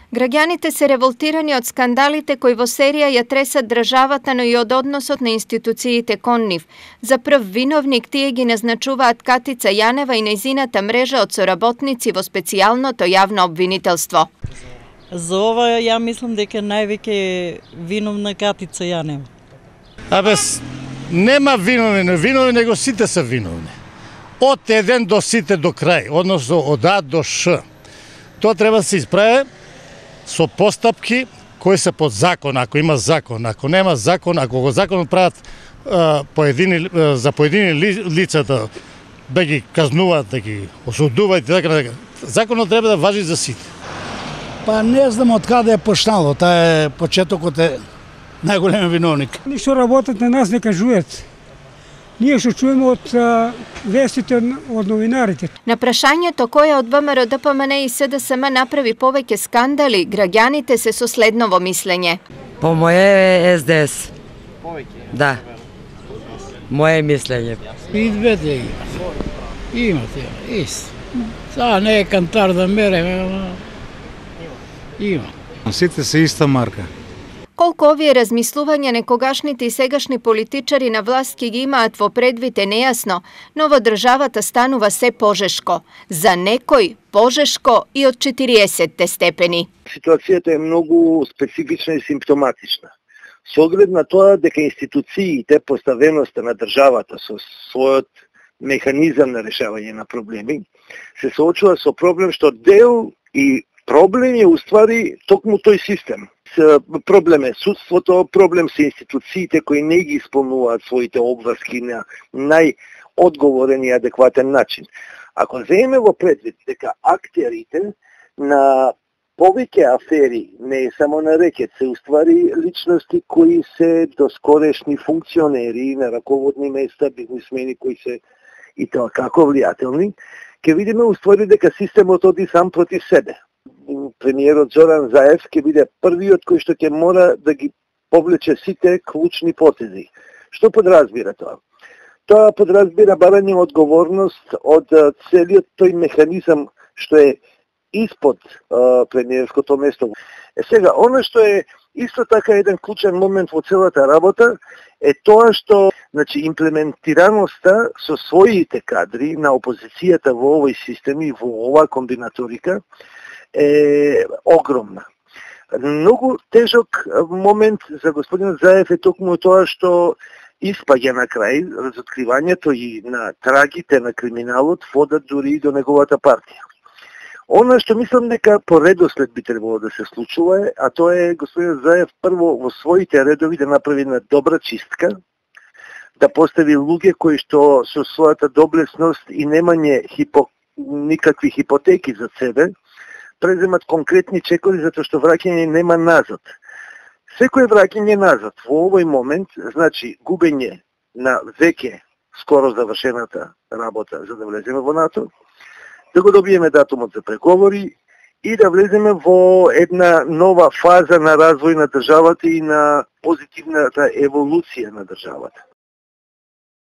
Граѓаните се револтирани од скандалите кои во серија ја тресат државата, но и од односот на институциите кон нив. За прв виновник тие ги назначуваат Катица Јанева и нејзината мрежа од соработници во специјалното јавно обвинителство. За ова ја мислам дека највеќе е виновна Катица Јанева. Нема виновни, него сите се виновни. Од еден до сите до крај, односно од А до Ш. Тоа треба да се исправи со постапки кои се под закон, ако има закон. Ако нема закон, ако го законот прават за поедини лица да ги казнуваат, да ги осудуваат и така. Законот треба да важи за сите. Па не знам од каде е почнало, таа е почетокот е најголем виновник. Они што работат на нас не кажуваат. Ние што чуеме од вестите од новинарите. На прашањето која од ВМРО, ДПМН и СДСМ направи повеќе скандали, граѓаните се со следново мислење. По моје е СДС. Повеќе? Да. Моје мислење. И двете имате, ист. Сега не е кантар да мере, има. Сите се иста марка. Колку овие размислувања некогашните и сегашни политичари на власт ги имаат во предвид е нејасно, но во државата станува се пожешко. За некој пожешко и од 40 степени. Ситуацијата е многу специфична и симптоматична. Со оглед на тоа дека институциите, поставеноста на државата со својот механизам на решавање на проблеми, се соочува со проблем што дел и проблем е уствари токму тој систем. Проблем е судството, проблем се институциите кои не ги исполнуваат своите обврски на најодговорен и адекватен начин. Ако земеме во предвид дека актерите на повеќе афери, не само на рекет, се уствари личности кои се доскорешни функционери на раководни места, бизнисмени кои се и тоа како влијателни, ќе видиме уствари дека системот оди сам против себе. Премиерот Зоран Заев ќе биде првиот кој што ќе мора да ги повлече сите клучни потези. Што подразбира тоа? Тоа подразбира барање одговорност од целиот тој механизам што е испод премиерското место. Сега, оно што е исто така еден клучен момент во целата работа е тоа што имплементираноста со своите кадри на опозицијата во овој систем и во оваа комбинаторика е огромна. Многу тежок момент за господинот Заев е токму тоа што испаѓа на крај разоткривањето и на трагите на криминалот водат дури и до неговата партија. Она што мислам дека по редослед би требало да се случува е, а тоа е господин Заев прво во своите редови да направи една добра чистка, да постави луѓе кои што со својата доблесност и немање никакви хипотеки за себе, преземат конкретни чекори затоа што враќање нема назад. Секој враќање назад во овој момент значи губење на веќе скоро завршената работа за да влеземе во НАТО, да го добиеме датумот за преговори и да влеземе во една нова фаза на развој на државата и на позитивната еволуција на државата.